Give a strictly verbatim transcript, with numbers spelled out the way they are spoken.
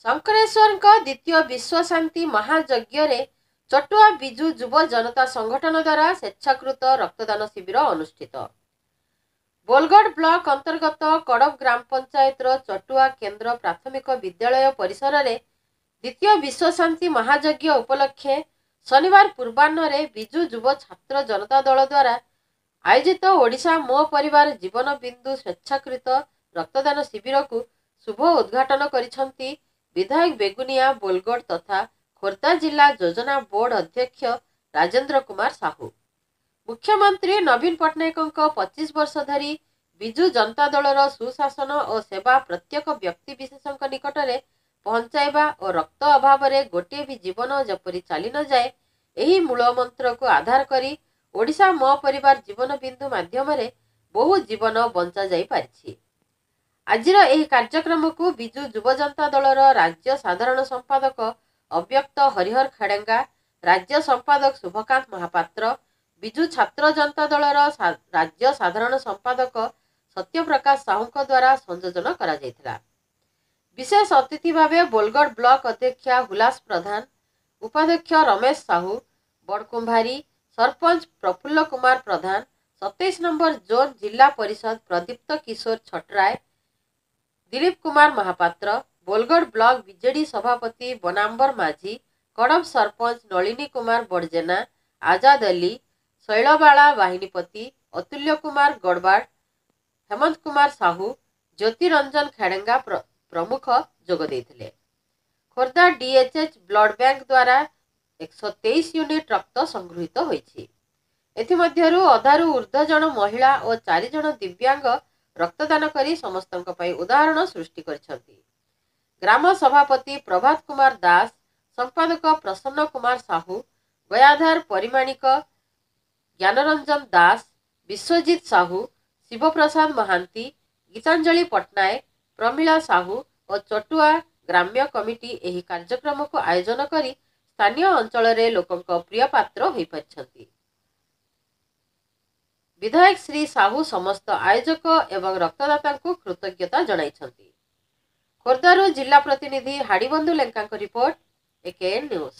ଶଙ୍କରେଶ୍ୱରଙ୍କ ଦ୍ୱିତୀୟ ବିଶ୍ୱଶାନ୍ତି ମହାଯଜ୍ଞରେ ଚଟୁଆ ବିଜୁ ଯୁବ ଜନତା ସଂଗଠନ ଦ୍ୱାରା ସ୍ୱେଚ୍ଛାକୃତ ରକ୍ତଦାନ ଶିବିର ଅନୁଷ୍ଠିତ। ବୋଲଗଡ଼ ବ୍ଲକ ଅନ୍ତର୍ଗତ କଡ଼ବ ଗ୍ରାମ ପଞ୍ଚାୟତର ଚଟୁଆ କେନ୍ଦ୍ର ପ୍ରାଥମିକ ବିଦ୍ୟାଳୟ ପରିସରରେ ଦ୍ୱିତୀୟ ବିଶ୍ୱଶାନ୍ତି ମହାଯଜ୍ଞ ଉପଲକ୍ଷେ ଶନିବାର ପୂର୍ବାହ୍ନରେ ବିଜୁ ଯୁବ ଛାତ୍ର ଜନତା ଦଳ ଦ୍ୱାରା ଆୟୋଜିତ ଓଡ଼ିଶା ମୋ ପରିବାର ଜୀବନ ବିନ୍ଦୁ ସ୍ୱେଚ୍ଛାକୃତ ରକ୍ତଦାନ ଶିବିରକୁ ଶୁଭ ଉଦ୍ଘାଟନ କରିଛନ୍ତି ବିଧାୟକ ବେଗୁନିଆ ବୋଲଗଡ଼ ତଥା ଖୋର୍ଦ୍ଧା ଜିଲ୍ଲା ଯୋଜନା ବୋର୍ଡ ଅଧ୍ୟକ୍ଷ ରାଜେନ୍ଦ୍ର କୁମାର ସାହୁ। ମୁଖ୍ୟମନ୍ତ୍ରୀ ନବୀନ ପଟ୍ଟନାୟକଙ୍କ ପଚିଶ ବର୍ଷ ଧରି ବିଜୁ ଜନତା ଦଳର ସୁଶାସନ ଓ ସେବା ପ୍ରତ୍ୟେକ ବ୍ୟକ୍ତିବିଶେଷଙ୍କ ନିକଟରେ ପହଞ୍ଚାଇବା ଓ ରକ୍ତ ଅଭାବରେ ଗୋଟିଏ ବି ଜୀବନ ଯେପରି ଚାଲି ନଯାଏ, ଏହି ମୂଳ ମନ୍ତ୍ରକୁ ଆଧାର କରି ଓଡ଼ିଶା ମୋ ପରିବାର ଜୀବନ ବିନ୍ଦୁ ମାଧ୍ୟମରେ ବହୁ ଜୀବନ ବଞ୍ଚାଯାଇପାରିଛି। ଆଜିର ଏହି କାର୍ଯ୍ୟକ୍ରମକୁ ବିଜୁ ଯୁବ ଜନତା ଦଳର ରାଜ୍ୟ ସାଧାରଣ ସମ୍ପାଦକ ଅବ୍ୟକ୍ତ ହରିହର ଖେଡ଼େଙ୍ଗା, ରାଜ୍ୟ ସମ୍ପାଦକ ଶୁଭକାନ୍ତ ମହାପାତ୍ର, ବିଜୁ ଛାତ୍ର ଜନତା ଦଳର ରାଜ୍ୟ ସାଧାରଣ ସମ୍ପାଦକ ସତ୍ୟପ୍ରକାଶ ସାହୁଙ୍କ ଦ୍ୱାରା ସଂଯୋଜନ କରାଯାଇଥିଲା। ବିଶେଷ ଅତିଥି ଭାବେ ବୋଲଗଡ଼ ବ୍ଲକ ଅଧ୍ୟକ୍ଷା ହୁଲାସ ପ୍ରଧାନ, ଉପାଧ୍ୟକ୍ଷ ରମେଶ ସାହୁ, ବଡ଼କୁମ୍ଭାରୀ ସରପଞ୍ଚ ପ୍ରଫୁଲ୍ଲ କୁମାର ପ୍ରଧାନ, ସତେଇଶ ନମ୍ବର ଜୋନ୍ ଜିଲ୍ଲା ପରିଷଦ ପ୍ରଦୀପ୍ତ କିଶୋର ଛଟରାୟ, ଦିଲୀପ କୁମାର ମହାପାତ୍ର, ବୋଲଗଡ଼ ବ୍ଲକ ବିଜେଡି ସଭାପତି ବନାମ୍ବର ମାଝୀ, କଡ଼ବ ସରପଞ୍ଚ ନଳିନୀ କୁମାର ବଡ଼ଜେନା, ଆଜାଦ ଅଲି, ଶୈଳବାଳା ବାହିନୀପତି, ଅତୁଲ୍ୟ କୁମାର ଗଡ଼ବାଡ଼, ହେମନ୍ତ କୁମାର ସାହୁ, ଜ୍ୟୋତିରଞ୍ଜନ ଖେଡ଼େଙ୍ଗା ପ୍ରମୁଖ ଯୋଗ ଦେଇଥିଲେ। ଖୋର୍ଦ୍ଧା ଡିଏଚ୍ଏଚ୍ ବ୍ଲଡ୍ ବ୍ୟାଙ୍କ ଦ୍ୱାରା ଏକଶହ ତେଇଶ ୟୁନିଟ୍ ରକ୍ତ ସଂଗୃହୀତ ହୋଇଛି। ଏଥିମଧ୍ୟରୁ ଅଧାରୁ ଉର୍ଦ୍ଧ୍ୱ ଜଣ ମହିଳା ଓ ଚାରି ଜଣ ଦିବ୍ୟାଙ୍ଗ ରକ୍ତଦାନ କରି ସମସ୍ତଙ୍କ ପାଇଁ ଉଦାହରଣ ସୃଷ୍ଟି କରିଛନ୍ତି। ଗ୍ରାମ ସଭାପତି ପ୍ରଭାତ କୁମାର ଦାସ, ସମ୍ପାଦକ ପ୍ରସନ୍ନ କୁମାର ସାହୁ, ଗୟାଧର ପରିମାଣିକ, ଜ୍ଞାନରଞ୍ଜନ ଦାସ, ବିଶ୍ୱଜିତ ସାହୁ, ଶିବପ୍ରସାଦ ମହାନ୍ତି, ଗୀତାଞ୍ଜଳି ପଟ୍ଟନାୟକ, ପ୍ରମିଳା ସାହୁ ଓ ଚଟୁଆ ଗ୍ରାମ୍ୟ କମିଟି ଏହି କାର୍ଯ୍ୟକ୍ରମକୁ ଆୟୋଜନ କରି ସ୍ଥାନୀୟ ଅଞ୍ଚଳରେ ଲୋକଙ୍କ ପ୍ରିୟ ପାତ୍ର ହୋଇପାରିଛନ୍ତି। ବିଧାୟକ ଶ୍ରୀ ସାହୁ ସମସ୍ତ ଆୟୋଜକ ଏବଂ ରକ୍ତଦାତାଙ୍କୁ କୃତଜ୍ଞତା ଜଣାଇଛନ୍ତି। ଖୋର୍ଦ୍ଧାରୁ ଜିଲ୍ଲା ପ୍ରତିନିଧି ହାଡ଼ିବନ୍ଧୁ ଲେଙ୍କାଙ୍କ ରିପୋର୍ଟ, ଏକେଏନ୍ ନ୍ୟୁଜ୍।